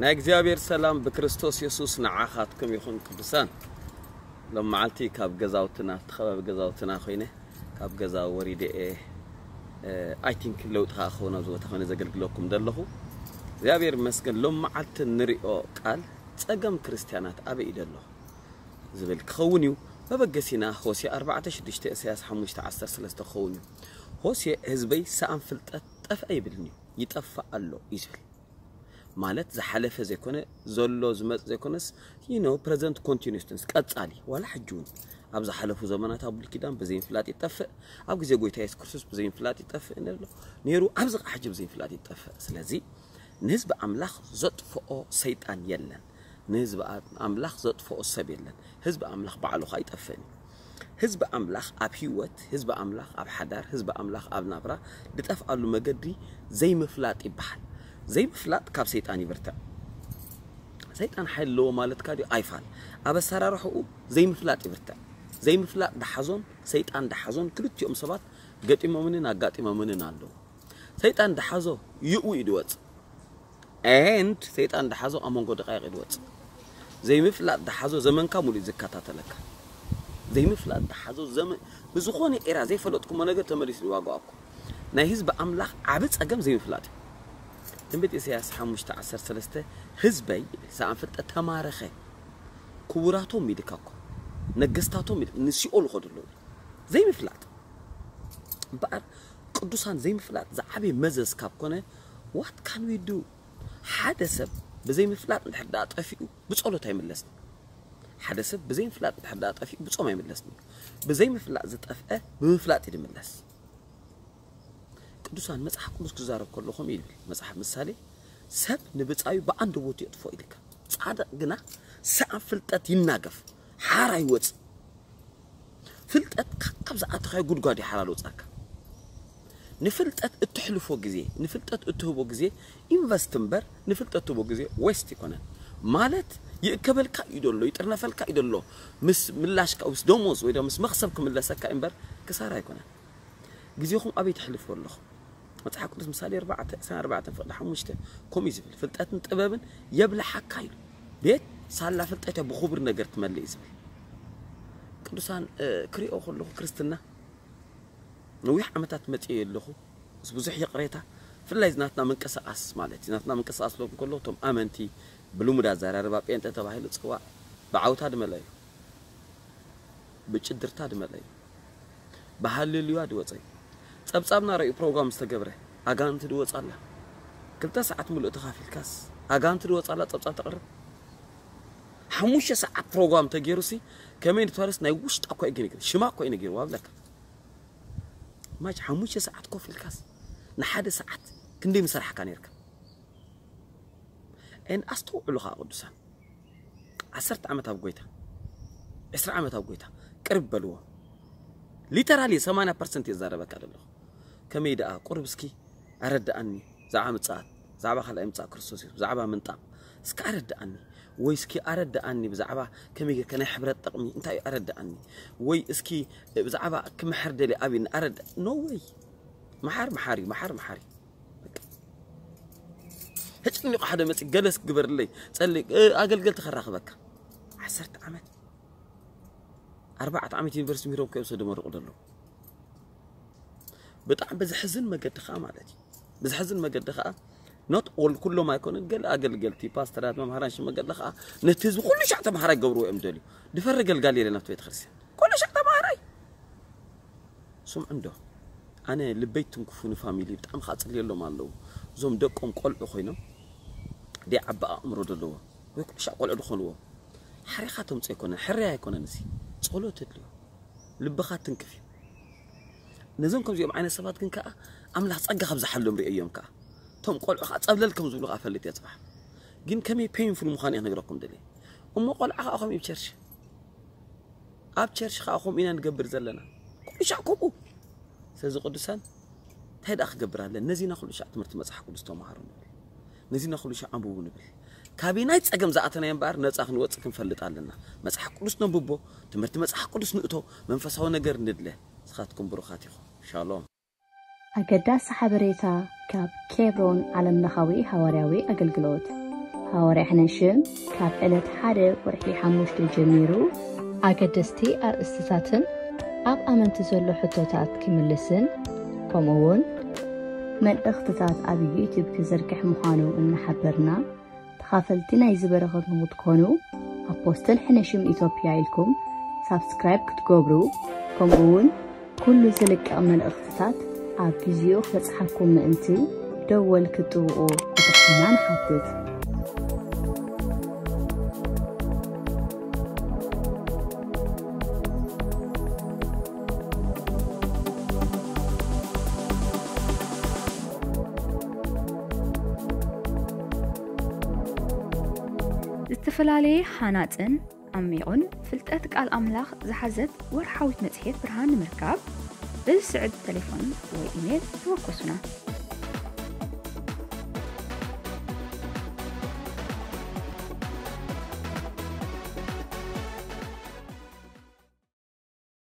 ናይ እግዚኣብሔር ሰላም ብክርስቶስ የሱስ ንዓኻትኩም ይኹን። ቅዱሳን፣ ሎም መዓልቲ ካብ ገዛውትና፣ እቲ ከባቢ ገዛውትና ኮይነ ካብ ገዛ ወሪደ እየ። I think ለውጢ ከዓ ክኸውን ኣብዚ ቦታ ኮይነ ዘገልግለኩም ዘለኹ። እግዚኣብሔር ይመስገን። ሎም መዓልቲ ንሪኦ ቃል ጸገም ክርስትያናት ኣበይ እዩ ዘሎ ዝብል ክኸውን እዩ። መበገሲና ሆሴ ኣርባዕተ ሽዱሽተ፣ ኢሳያስ ሓሙሽተ ዓሰርተ ሰለስተ ክኸውን እዩ። ሆሴ ህዝበይ ሰኣን ፍልጠት ጠፍአ ይብልኒ እዩ፣ ይጠፍእ ኣሎ እዩ ዝብል። ማለት ዝሓለፈ ዘይኮነ፣ ዘሎ ዝመጽእ ዘይኮነስ፣ you know, present continuous tense፣ ቀጻሊ። ዋላ ሕጂ እውን ኣብ ዝሓለፉ ዘመናት ኣብ ብሉይ ኪዳን ብዘይምፍላጥ ይጠፍእ፣ ኣብ ግዜ ጎይታ የሱስ ክርስቶስ ብዘይምፍላጥ ይጠፍእ ነሎ ነይሩ፣ ኣብዚ ኸዓ ሕጂ ብዘይምፍላጥ ይጠፍእ። ስለዚ ንህዝቢ ኣምላኽ ዘጥፍኦ ሰይጣን የለን፣ ንህዝቢ ኣምላኽ ዘጥፍኦ ሰብ የለን። ህዝቢ ኣምላኽ ባዕሉ ኸዓ ይጠፍእን እዩ። ህዝቢ ኣምላኽ ኣብ ህይወት፣ ህዝቢ ኣምላኽ ኣብ ሓዳር፣ ህዝቢ ኣምላኽ ኣብ ናብራ ዝጠፍኣሉ መገዲ ዘይምፍላጥ ይበሃል። ዘይምፍላጥ ካብ ሰይጣን ይብርትዕ። ሰይጣን ሓይሊ ኣለዎ ማለትካ ድዩ? ኣይፋል። ኣብ ኣሰራርሕኡ ዘይምፍላጥ ይብርትዕ። ዘይምፍላጥ ደሓዞን ሰይጣን ደሓዞን ክልቲኦም ሰባት ገጢሞምንን ኣጋጢሞምንን ኣለዉ። ሰይጣን ደሓዞ ይእዊ እዩ ድወጽእ። And ሰይጣን ደሓዞ ኣብ መንጎ ደቃይቕ እዩ ድወጽእ። ዘይምፍላጥ ደሓዞ ዘመንካ ሙሉእ እዩ ዝከታተለካ። ዘይምፍላጥ ደሓዞ ዘመን ብዝኾነ ኤራ ዘይፈለጥኩሞ ነገር ተመሊሱ ይዋጋኣኩም። ናይ ህዝቢ ኣምላኽ ዓቢ ጸገም ዘይምፍላጥ እዩ። ትንቢት ኢሳያስ ሓሙሽተ ዓሰርተ ሰለስተ፣ ህዝበይ ሰኣን ፍልጠት ተማረኸ፣ ክቡራቶም ኢልካ እኮ፣ ነገስታቶም ኢል-፣ ንሲኦል ይኸዱ ኣለዉ። ዘይምፍላጥ እምበኣር ቅዱሳን፣ ዘይምፍላጥ ዝዓበየ መዘዝ ካብ ኮነ፣ what can we do? ሓደ ሰብ ብዘይምፍላጥ እንድሕር ደኣ ጠፊኡ ብጸሎት ኣይምለስን። ሓደ ሰብ ብዘይምፍላጥ እንድሕር ደኣ ጠፊኡ ብጾም ኣይምለስን። ብዘይምፍላጥ ዝጠፍአ ብምፍላጥ እዩ ዝምለስ። ቅዱሳን፣ መጽሓፍ ቅዱስ ክዛረብ ከሎ ከምኡ ይብል። መጽሓፍ ምሳሌ፣ ሰብ ንብጻዩ ብኣንደበቱ የጥፍኦ ኢልካ። ጻድቕ ግና ሰኣን ፍልጠት ይናገፍ፣ ሓራ ይወጽእ። ፍልጠት ካብ ዝኣተኻዮ ጉድጓድ እዩ ሓራ ዝወጻካ። ንፍልጠት እትሕልፎ ግዜ፣ ንፍልጠት እትህቦ ግዜ ኢንቨስት እምበር ንፍልጠት ትህቦ ግዜ ዌስት ይኮነን። ማለት ይእከበልካ እዩ ደሎ፣ ይጥርነፈልካ እዩ ደሎ። ምስ ምላሽካ፣ ምስ ደሞዝ ወይ ድማ ምስ መኽሰብ ክምለሰካ እምበር ክሳራ ኣይኮነን። ግዜኹም ኣበይ ተሕልፍዎ ኣለኹም? መጽሓፍ ቅዱስ ምሳሌ ኣርባዕተ፣ ዕስራን ኣርባዕተን ፍቕዲ ሓሙሽተ ከምኡ እዩ ዝብል፣ "ፍልጠትን ጥበብን የብልሓካ" ኢሉ። ቤት ሳላ ፍልጠት እያ ብኽቡር ነገር ትመልእ እዩ ዝብል። ቅዱሳን፣ እ፣ ክሪኦ ከለኹ ክርስትና ነዊሕ ዓመታት መጽኤ ኣለኹ። ምስ ብዙሕ ይቕሬታ፣ ብፍላይ እዚ ናትና ምንቅስቓስ ማለት እዩ። ናትና ምንቅስቓስ ክብለኩም ከለኹ፣ እቶም ኣመንቲ ብልሙድ ኣዘራርባ ጴንጠ ተባሂሉ ዝጽዋዕ ብዓውታ ድመለ እዩ። ብጭድርታ ድመለ እዩ። ብሃሌሉያ ድወጸ እዩ። ጸብጻብና ረእዩ ፕሮግራም ዝተገብረ ኣጋንንቲ ድወጻ ኣላ። ክልተ ሰዓት ሙሉእ ተኻፊልካስ ኣጋንንቲ ድወጻ ኣላ ጸብጻብ ተቕርብ። ሓሙሽተ ሰዓት ፕሮግራም ተገይሩሲ ከመይ ንትፈርስ ናይ ውሽጣ እኮ እዩ ነጊሩ፣ ሽማ እኮ እዩ ነጊሩ ኣብለካ። ማች ሓሙሽተ ሰዓት ኮፍ ኢልካስ ንሓደ ሰዓት ክንደይ ምሰራሕካ ነይርካ? ኤን ኣስተውዕሉ ኸዓ ቅዱሳን፣ ዓሰርተ ዓመት ኣብ ጎይታ፣ ዕስራ ዓመት ኣብ ጎይታ ቅርብ በልዎ። ሊተራሊ ሰማንያ ፐርሰንት የዛረበካ ዘለኹ። ከመይ ደኣ ቁርብ እስኪ ኣረድኣኒ፣ ብዛዕባ ምጽኣት፣ ብዛዕባ ካልኣይ ምጽኣት ክርስቶስ የሱስ፣ ብዛዕባ ምንጣቕ እስኪ ኣረድኣኒ። ወይ እስኪ ኣረድኣኒ ብዛዕባ ከመይ ጌርካ ናይ ሕብረት ጥቕሚ እንታይ እዩ ኣረድኣኒ። ወይ እስኪ ብዛዕባ ክምሕር ደልየ ኣብኒ ኣረድ-፣ ኖ ወይ። መሓር መሓር እዩ፣ መሓር መሓር እዩ። በቃ። ተጨኒቑ ሓደ መጺእ ገለስ ግበርለይ፣ ጸሊ-፣ እ፣ ኣገልገልቲ ከራኽበካ። ዓሰርተ ዓመት፣ ኣርባዕተ ዓመት ዩኒቨርሲቲ ምሂሮም ከይወሰዱ መርቑ ዘለዉ። ብጣዕሚ ብዝሕዝን መገዲ ኸዓ ማለት እዩ። ብዝሕዝን መገዲ ኸዓ፣ ኖት ኦል፣ ኩሎም ኣይኮኑን፣ ገለ ኣገልገልቲ፣ ፓስተራት፣ መምሃራን ሽመ ገለ ኸዓ ነቲ ህዝቢ ኩሉ ሻዕ ተምሃራይ ገብርዎ እዮም ደልዩ። ድፈሪ ገልጋሊ የለን ኣብቲ ቤተክርስትያን። ኩሉ ሻዕ ተምሃራይ። ስምዑ እንዶ፣ ኣነ ልበይ ትንክፉ ንፋሚሊ ብጣዕሚ ኸዓ ጽልየሎም ኣለዉ። እዞም ደቆም ቆልዑ ኮይኖም፣ ደይ ዓቢ ኣእምሮ ዘለዎ፣ ወይ ኩሉ ሻዕ ቆልዑ ዝኾንዎ። ሓሪኻ ተምጽኦ ኣይኮነን፣ ሕርያ ኣይኮነን እዚ። ጸሎት የድልዮ። ልብኻ ትንክፍ እዩ። ነዞም ከምዚኦም ዓይነት ሰባት ግን ከኣ ኣምላኽ ጸጋ ከብዝሓሎም ርእዮም ከኣ። እቶም ቆልዑ ከኣ ጸብለል ከም ዝብሉ ከኣ ፈልጥ እየ ጽባሕ። ግን ከመይ ፔይንፉል ምዃኑ እየ ክነግረኩም ደልየ። እሞ ቆልዓ ከኣ ከምኡ እዩ ቸርች። ኣብ ቸርች ከኣ ከምኡ ኢና ንገብር ዘለና። ኩሉ ሻዕ ከምኡ። ስለዚ ቅዱሳን፣ እንታይ ደኣ ክገብር ኣለ? ነዚና ኩሉ ሻዕ ትምህርቲ መጽሓፍ ቅዱስ ተማሃሩ ንብል። ነዚና ኩሉ ሻዕ ኣንብቡ ንብል። ካበይ ናይ ጸገም ዝኣተና እምበኣር ነጻ ክንወጽእ ክንፈልጥ ኣለና። መጽሓፍ ቅዱስ ነንብቦ፣ ትምህርቲ መጽሓፍ ቅዱስ ንእቶ፣ መንፈሳዊ ነገር ንድለ። ንስኻትኩም ብሩኻት ኢኹም። ሻሎም። ኣገዳሲ ሓበሬታ ካብ ኬብሮን ዓለምለኻዊ ሃዋርያዊ ኣገልግሎት። ሃዋርያ ሕነሽም ካብ ዕለት ሓደ ወርሒ ሓሙሽተ ጀሚሩ ኣገደስቲ ኣርእስትታትን ኣብ ኣመንቲ ዘሎ ሕቶታት ክምልስን፣ ከምኡ እውን መልእኽትታት ኣብ ዩቱብ ክዝርግሕ ምዃኑ እናሓበርና፣ ተኻፈልቲ ናይዚ በረኸት ንክትኮኑ ኣፖስትል ሕነሽም ኢትዮጵያ ኢልኩም ሳብስክራይብ ክትገብሩ፣ ከምኡ እውን ኩሉ ዝልቀቕ መልእኽትታት ኣብ ግዜኡ ክበጽሓኩም ምእንቲ ደወል ክትጥውቑ ብትሕትና ንሓትት። ዝተፈላለየ ሃናጽን ዓሚቑን ፍልጠት ቃል ኣምላኽ ዝሓዘት ወርሓዊት መጽሔት ብርሃን ንምርካብ፣ በዚ ስዕብ ተሌፎን ወይ ኢሜል ተወከሱና።